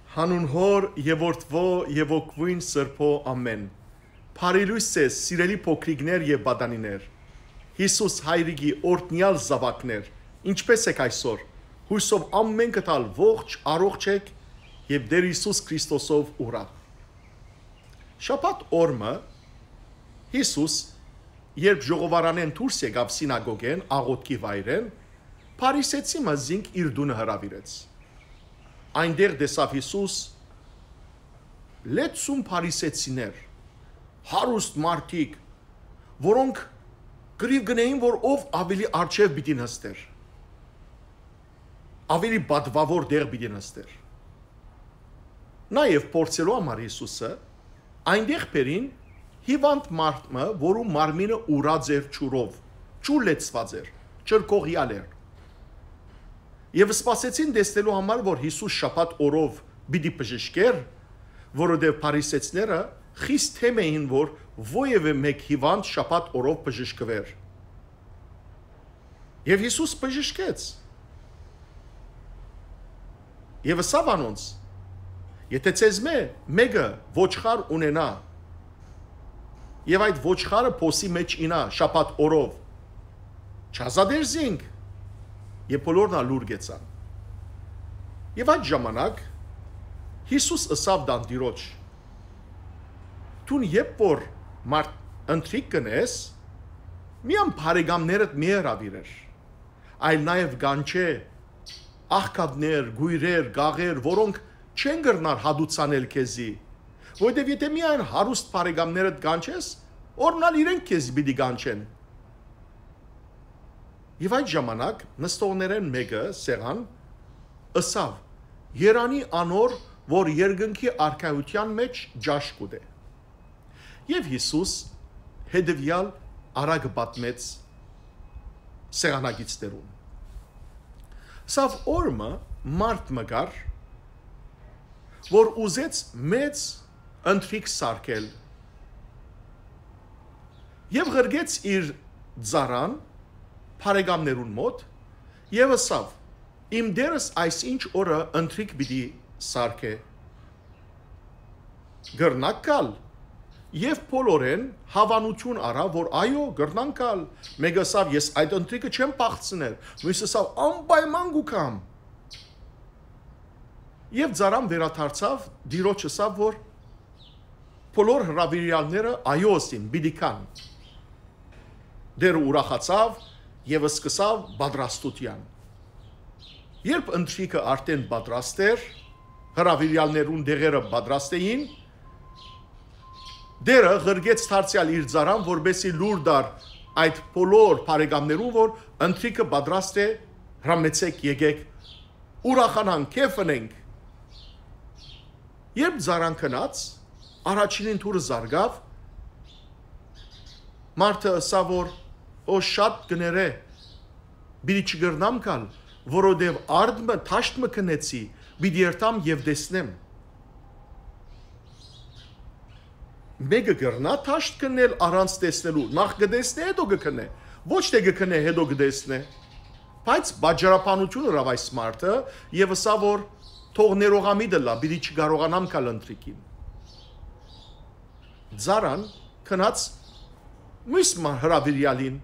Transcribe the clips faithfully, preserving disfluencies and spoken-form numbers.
Հանուն Հօր եւ Որդւոյ եւ Հոգւոյն Սրբոյ, ամէն։ Բարի լոյս ձեզ, սիրելի փոքրիկներ եւ պատանիներ։ Յիսուս Հայրիկի օրհնեալ զաւակներ, ինչպէս եք այսօր։ Յուսով ամէնքդ ալ ողջ, առողջ եք եւ Տէր Յիսուս Քրիստոսով ուրախ։ Շաբաթ օրը Յիսուս, երբ ժողովարանէն դուրս եկաւ սինագոգէն, աղօթքի վայրէն, Փարիսեցի մը զինք իր տունը հրաւիրեց։ Այնտեղ տեսաւ Յիսուս լեցուն փարիսեցիներ, հարուստ մարդիկ, որոնք կռիւ գնային, որ ով աւելի արջեւ պիտի նստեր, աւելի պատուաւոր տեղ պիտի նստեր։ Նաեւ փորձելու համար Յիսուսը, այնտեղ բերին հիւանդ մարդ մը, որու մարմինը ուրած էր ջուրով, ջուր լեցուած էր, ջրկողեալ էր։ Եւ սպասեցին տեսնելու համար, որ Յիսուս շաբաթ օրով պիտի բժշկէր, որովհետեւ փարիսեցիները խիստ դէմ էին, որ որեւէ մէկ հիւանդ շաբաթ օրով բժշկուէր։ Եւ Յիսուս բժշկեց։ Եւ ըսաւ անոնց. «Եթէ ձեզմէ մէկը ոչխար ունենայ, եւ այդ ոչխարը փոսի մէջ իյնայ շաբաթ օրով, չ'ազատե՞ր զինք»։ Եւ բոլորն ալ լուռ գեցան։ Եւ այդ ժամանակ Յիսուս ըսաւ տան տիրոջ. «Դուն երբ որ մարդ ընթրիք կ'ընես, միայն բարեկամներդ մի հրաւիրեր, այլ նաեւ կանչէ աղքատներ, կոյրեր, կաղեր, որոնք չեն կրնար հատուցանել քեզի, որովհետեւ եթէ միայն հարուստ բարեկամներդ կանչես, օրհնալ իրենք քեզի պիտի կանչեն»։ Եւ այդ ժամանակ նստողներէն մէկը, սեղան, ըսաւ. «Երանի անոր, որ երկնքի արքայութեան մէջ ճաշ կ'ուտէ»։ Եւ Յիսուս հետեւեալ առակը պատմեց սեղանակիցներուն։ Սա օրը մը մարդ մը կար, որ ուզեց մեծ ընթրիք սարքել եւ ղրկեց իր ծառան բարեկամներուն մօտ եւ ըսաւ. «Իմ տերս այսինչ օրը ընթրիք պիտի սարքէ։ Կրնա՞ք գալ»։ Եւ բոլորէն հաւանութիւն առաւ, որ այո, կրնան գալ։ Մէկը ըսաւ. «Ես այդ ընթրիքը չեմ փախցներ»։ Մոյսը ըսաւ. «Անպայման կու գամ»։ Եւ ծառան վերադարձաւ, տիրոջ ըսաւ, որ բոլոր հրաւիրեալները այո ըսին, պիտի գան։ Տերը ուրախացաւ եւ սկսաւ պատրաստութեան։ Երբ ընթրիքը արդէն պատրաստ էր, հրաւիրեալներուն տեղերը պատրաստ էին, Տերը ղրկեց դարձեալ իր ծառան, որպեսզի լուր տար այդ բոլոր բարեկամներուն, որ ընթրիքը պատրաստ է, հրամեցեք, եկեք, ուրախանանք, քեֆ ընենք։ Երբ ծառան գնաց, առաջինին դուռը զարկաւ, մարդը ըսաւ, որ «Օ, շատ կ'երեմ, պիտի չկրնամ գալ, որովհետեւ արդ մը, դաշտ մը գնեցի, պիտի երթամ եւ տեսնեմ»։ Մէկը կրնա՞ դաշտ գնալ առանց տեսնելու, նախ կը տեսնէ, հետո կը գնէ։ Ոչ թէ կը գնէ, հետո կը տեսնէ։ Բայց պատճառաբանություն ըրաւ այս մարդը եւ ըսաւ, որ «Թող ներողամիտ ըլլայ, պիտի չկարողանամ գալ ընթրիքին»։ Ծառան գնաց մյուս մը հրաւիրեալին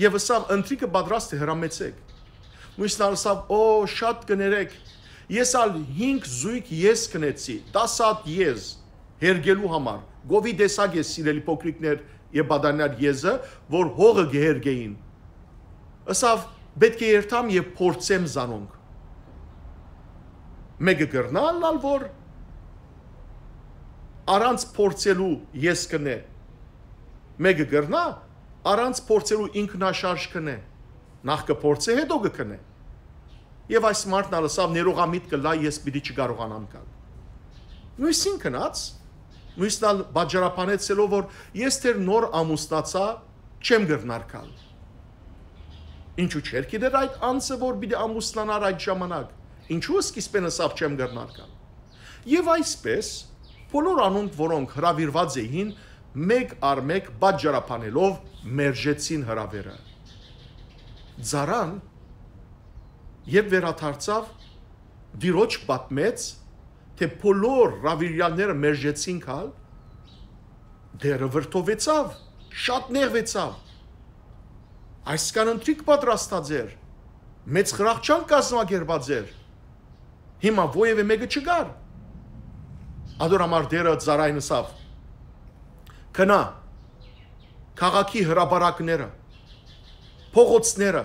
եւ ըսաւ. «Ընթրիքը պատրաստ է, հրամեցեք»։ Մյուսն ալ ըսաւ. «Օ, շատ կ'երեմ, ես ալ հինգ զոյգ եզ գնեցի, տասը հատ եզ հերկելու համար»։ Գովի տեսակ է, սիրելի փոքրիկներ եւ պատանիներ, եզը, որ հողը կը հերկէին։ Ըսաւ. «Պէտք է երթամ եւ փորձեմ զանոնք»։ Մէկը կրնա՞ ըլլալ, որ առանց փորձելու եզ գնէ։ Մէկը կրնա առանց փորձելու ինքնաշարժ գնէ։ Նախ կը փորձէ, հետո կը գնէ։ Եւ այս մարդն ալ ըսաւ. «Ներողամիտ կ'ըլլայ, ես պիտի չկարողանամ գալ»։ Մյուսին գնաց, մյուսն ալ պատճառաբանեցելով, որ «Ես դեռ նոր ամուսնացայ, չեմ կրնար գալ»։ Ինչու՞ չէր գիտեր այդ անձը, որ պիտի ամուսնանար այդ ժամանակ։ Ինչու՞ սկիզբէն ըսաւ. «Չեմ կրնար գալ»։ Եւ այսպես, բոլոր անոնք, որոնք հրաւիրուած էին, մէկ առ մէկ պատճառաբանելով մերժեցին հրաւերը։ Ծառան, երբ վերադարձաւ, տիրոջ պատմեց, թէ բոլոր հրաւիրեալները մերժեցին քալ, Տէրը վրդովեցաւ, շատ նեղուեցաւ։ Այսքան ընթրիք պատրաստած էր, մեծ խրախճանք կազմակերպած էր։ Հիմա որեւէ մէկը չկար։ Ատոր համար Տէրը ծառային ըսաւ. «Գնա, քաղաքի հրապարակները, փողոցները,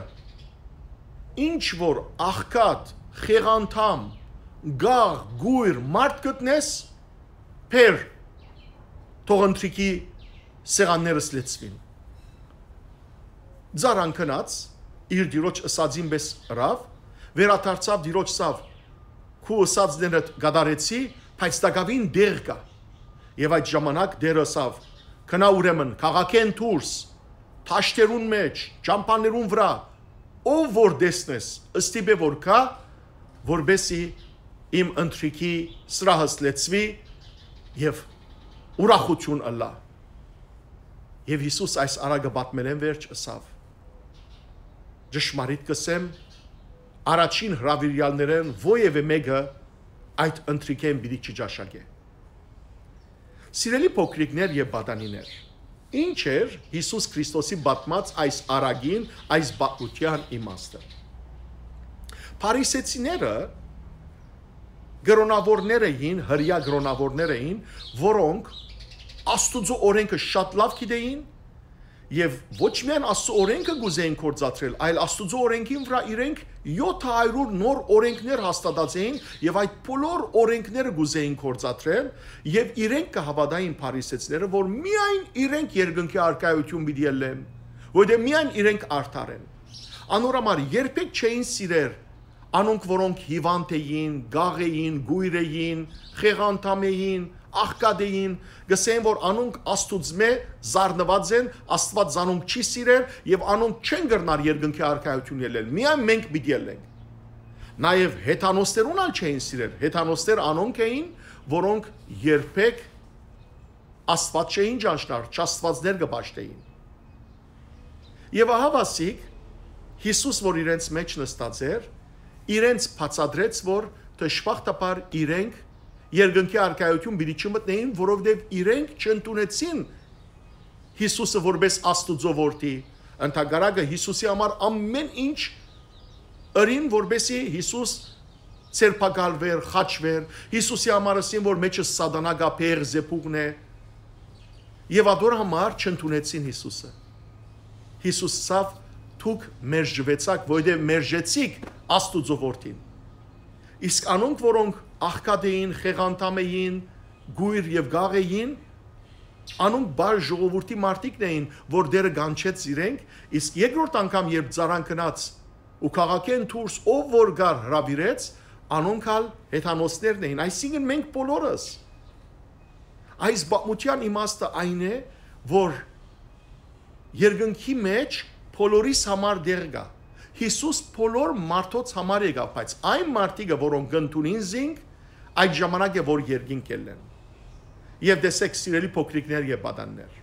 ինչ որ աղքատ, խեղանդամ, գաղ, գոյր մարդ գտնես, բեր, թող ընթրիքի սեղաններս լեցուին»։ Ծառան գնաց, իր տիրոջ ըսածին պէս ըրաւ, վերադարձաւ, տիրոջ ըսաւ. «Քու ըսածներդ կատարեցի, բայց տակաւին տեղ կայ»։ Եւ այդ ժամանակ Տէրը ըսաւ. «Գնա ուրեմն քաղաքէն դուրս, դաշտերուն մէջ, ճամբաներուն վրայ, ով որ տեսնես, ստիպէ որ գայ, որպէսզի իմ ընթրիքի սրահս լեցուի եւ ուրախութիւն ըլլայ»։ Եւ Յիսուս այս առակը պատմելէն վերջ ըսաւ. «Ճշմարիտ կ'ըսեմ, առաջին հրաւիրեալներէն որեւէ մէկը այդ ընթրիքէն պիտի չճաշակէ»։ Սիրելի փոքրիկներ եւ պատանիներ, ի՞նչ էր Յիսուս Քրիստոսի պատմած այս առակին, այս պատմութեան իմաստը։ Փարիսեցիները կրօնաւորներ էին, հրեայ կրօնաւորներ էին, որոնք Աստուծոյ օրէնքը շատ լաւ գիտէին եւ ոչ միայն Աստուծոյ օրէնքը կ'ուզէին գործադրել, այլ Աստուծոյ օրէնքին վրայ իրենք եօթ հարիւր նոր օրէնքներ հաստատած էին եւ այդ բոլոր օրէնքները կ'ուզէին գործադրել եւ իրենք կը հաւատային, փարիսեցիները, որ միայն իրենք երկնքի առկայութիւն պիտի ելլեն, որովհետեւ միայն իրենք արդար են։ Անոր համար երբեք չէին սիրեր անոնք, որոնք հիվանդ էին, գաղ էին, գոյր էին, խեղանդամ էին, աղքատ էին, կ'ըսէին, որ անոնք Աստուծմէ զարնուած են, Աստուած զանոնք չի սիրեր եւ անոնք չեն կրնար երկնքի առկայութիւն ելլել։ Միայն մենք պիտի ելլենք։ Նաեւ հեթանոսներուն ալ չէին սիրեր։ Հեթանոսներ անոնք էին, որոնք երբեք Աստուած չէին ճանչնար, չաստուածներ կը պաշտէին։ Եւ ահա վասիկ, Յիսուս, որ իրենց մէջ նստած էր, իրենց բացատրեց, որ դժբախտաբար իրենք երկնքի առկայութիւն պիտի չմտնէին, որովհետեւ իրենք չընդունեցին Յիսուսը որպէս Աստուծոյ որդի։ Ընդհակառակը, Յիսուսի համար ամէն ինչ ըրին, որպէսզի Յիսուս ձերբակալուէր, խաչուէր։ Յիսուսի համար ըսին, որ մէջը սատանայ կայ, բեղը, զեփուխն է։ Եւ ատոր համար չընդունեցին Յիսուսը։ Յիսուս ըսաւ. «Դուք մերժուեցաք, որովհետեւ մերժեցիք Աստուծոյ որդին»։ Իսկ անոնք, որոնք աղքատ էին, խեղանդամ էին, գոյր եւ գաղ էին, անոնք պարզ ժողովուրդի մարդիկն էին, որ Տէրը կանչեց իրենք, իսկ երկրորդ անգամ, երբ ծառան գնաց ու քաղաքէն դուրս ով որ կար, հրաւիրեց, անոնք ալ հեթանոսներն էին, այսինքն մենք բոլորս։ Այս պատմութեան իմաստը այն է, որ երկնքի մէջ բոլորիս համար տեղ կայ։ Յիսուս բոլոր մարդոց համար եկաւ, բայց այն մարդիկը, որոնք կ'ընդունին զինք, այդ ժամանակ է, որ երկինք կ'ելլեն։ Եւ տեսեք, սիրելի փոքրիկներ եւ պատաններ,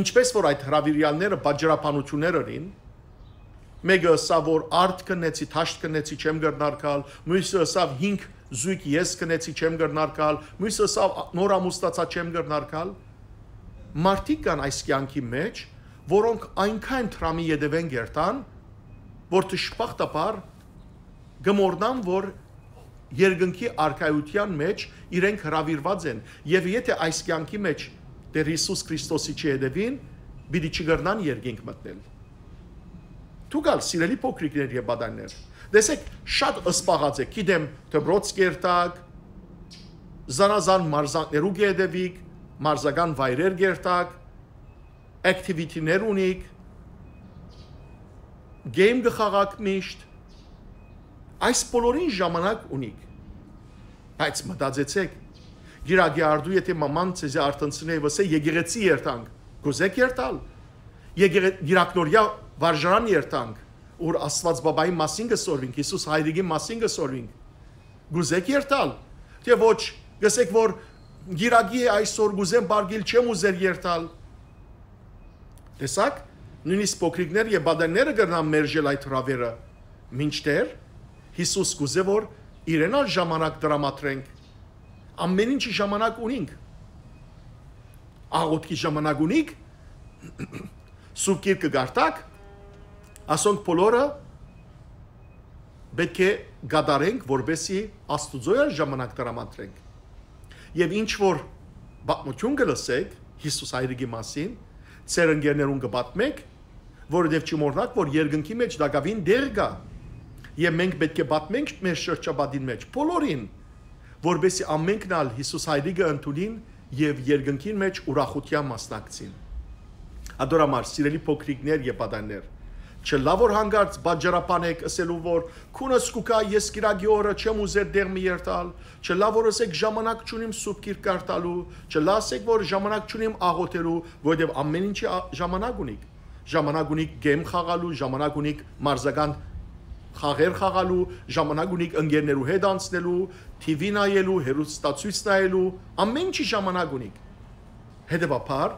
ինչպես որ այդ հրաւիրեալները պատճառաբանութիւններ ըրին, մէկը ըսաւ, որ արդ քննեցի, դաշտ քննեցի, չեմ կրնար գալ, մոյսը ըսաւ, հինգ զոյգ ես քննեցի, չեմ կրնար գալ, մոյսը ըսաւ, նոր ամուսնացայ, չեմ կրնար գալ։ Մարդիկ կան այս կեանքի մէջ, որոնք այնքան դրամի ետեւէն կ'երթան, որ դժբախտաբար կը մոռնան, որ երկնքի առկայութեան մէջ իրենք հրաւիրուած են, եւ եթէ այս կեանքի մէջ Տէր Յիսուս Քրիստոսի չհետեւին, պիտի չկրնան երկինք մտնել։ Դուք ալ, սիրելի փոքրիկներ եւ պատաններ, տեսեք, շատ սպաղած եք, գիտեմ, դպրոց կ'երթաք, զանազան մարզանքներու կ'ետեւիք, մարզական վայրեր կ'երթաք, activity-ներ ունիք, game կը խաղաք միշտ, այս բոլորին ժամանակ ունիք, բայց մտածեցեք, գիրագի արդու, եթե մաման ձեզի արթնցնէ, ըսէ, «Եկեղեցի երթանք», կ'ուզե՞ք երթալ։ Եկեղե-, գիրակնորյա վարժարան երթանք, ուր Աստուած Բաբային մասին կը սորվինք, Յիսուս Հայրիկին մասին կը սորվինք, կ'ուզե՞ք երթալ, թէ ոչ, կ'ըսէք, որ գիրագի է այսօր, կ'ուզեմ պարկիլ, չեմ ուզեր երթալ։ Տեսա՞ք, նոյնիսկ փոքրիկներ եւ պատանները կրնան մերժել այդ հրաւերը, մինչդեռ Յիսուս կ'ուզէ, որ իրեն ալ ժամանակ տրամադրենք, Ամեն ինչի ժամանակ ունինք։ Աղօթքի ժամանակ ունիք, Սուրբ Գիրքը կարտաք, ասոնք բոլորը պետք է կատարենք, որպեսզի Աստուծոյ ալ ժամանակ տրամադրենք։ Եւ ինչ որ պատմություն կը լսեք Յիսուս Հայրիկի մասին, ձեր ընկերներուն կը պատմեք, որովհետեւ չմոռնաք, որ երկնքի մէջ տակաւին տեղ կայ։ Եւ մենք պետք է պատմենք մեր շրջապատին մէջ բոլորին, որպեսզի ամենքն ալ Յիսուս Հայրիկը ընդունին եւ երկնքին մէջ ուրախութեան մասնակցին։ Ադոր համար, սիրելի փոքրիկներ եւ պատաններ, չլայ որ հանկարծ պատճառաբան եք ըսելու, որ քունս կու գայ, ես կիրակի օրը չեմ ուզեր տեղ մը երթալ, չլայ որ ըսեք ժամանակ չունիմ Սուրբ Գիրք կարդալու, չլայ ասեք որ ժամանակ չունիմ աղոթելու, որովհետեւ ամեն ինչի ա- ժամանակ ունիք։ Ժամանակ ունիք գեմ խաղալու, ժամանակ ունիք մարզական խաղեր խաղալու, ժամանակ ունիք ընկերներու հետ անցնելու, T V նայելու, հեռուստացոյց նայելու, ամեն ինչի ժամանակ ունիք։ Հետեւաբար,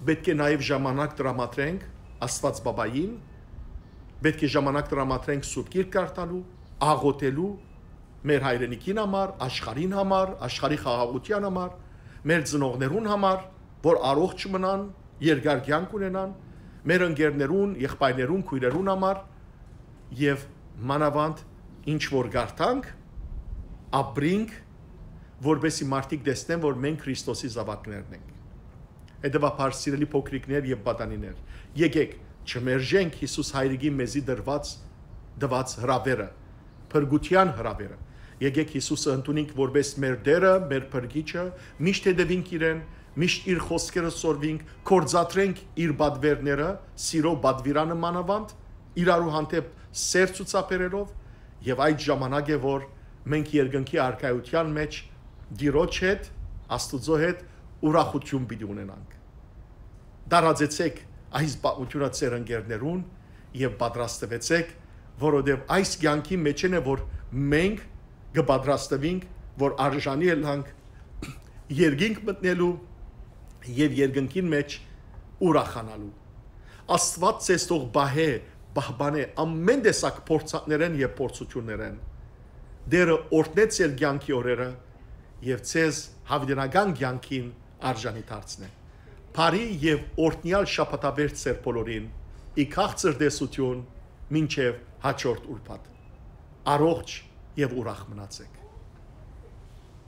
պետք է նաեւ ժամանակ տրամադրենք Աստված Բաբային, պետք է ժամանակ տրամադրենք Սուրբ Գիրք կարդալու, աղոթելու, մեր հայրենիքին համար, աշխարհին համար, աշխարհի խաղաղութեան համար, մեր ծնողներուն համար, որ առողջ մնան, երկար կեանք ունենան, մեր ընկերներուն, եղբայրներուն, քոյրերուն համար եւ մանաւանդ ինչ որ կարդանք, ապրինք, որպեսզի մարդիկ տեսնեն, որ մենք Քրիստոսի զաւակներն ենք։ Հետեւաբար, սիրելի փոքրիկներ եւ պատանիներ, եկեք չմերժենք Յիսուս Հայրիկի մեզի դրված, տված հրաւերը, փրկութեան հրաւերը։ Եկեք Յիսուսը ընդունենք որպես մեր Տէրը, մեր Փրկիչը, միշտ հետևինք իրեն, միշտ իր խօսքերը սորվինք, կործատրենք իր պատվերները, սիրո պատվիրանը մանաւանդ, իրարու հանդէպ սեր ցուցաբերելով, եւ այդ ժամանակ է, որ մենք երկնքի արքայութեան մէջ Տիրոջ հետ, Աստուծոյ հետ ուրախութիւն պիտի ունենանք։ Տարածեցեք այս պատմութիւնը ձեր ընկերներուն եւ պատրաստուեցեք, որովհետեւ այս կեանքի մէջէն է, որ մենք կը պատրաստուինք, որ արժանի ըլլանք երկինք մտնելու եւ երկնքին մէջ ուրախանալու։ Աստուած ձեզ թող պահէ, պահպանէ ամեն տեսակ փորձանքներէն եւ փորձութիւններէն։ Տէրը օրհնեց ձեր կեանքի օրերը եւ ձեզ յաւիտենական կեանքին արժանի դարձնէ։ Բարի եւ օրհնեալ շաբաթավերջ ձեր բոլորին, ի քաղցր տեսութիւն մինչեւ հաջորդ ուրբաթ։ Առողջ եւ ուրախ մնացեք։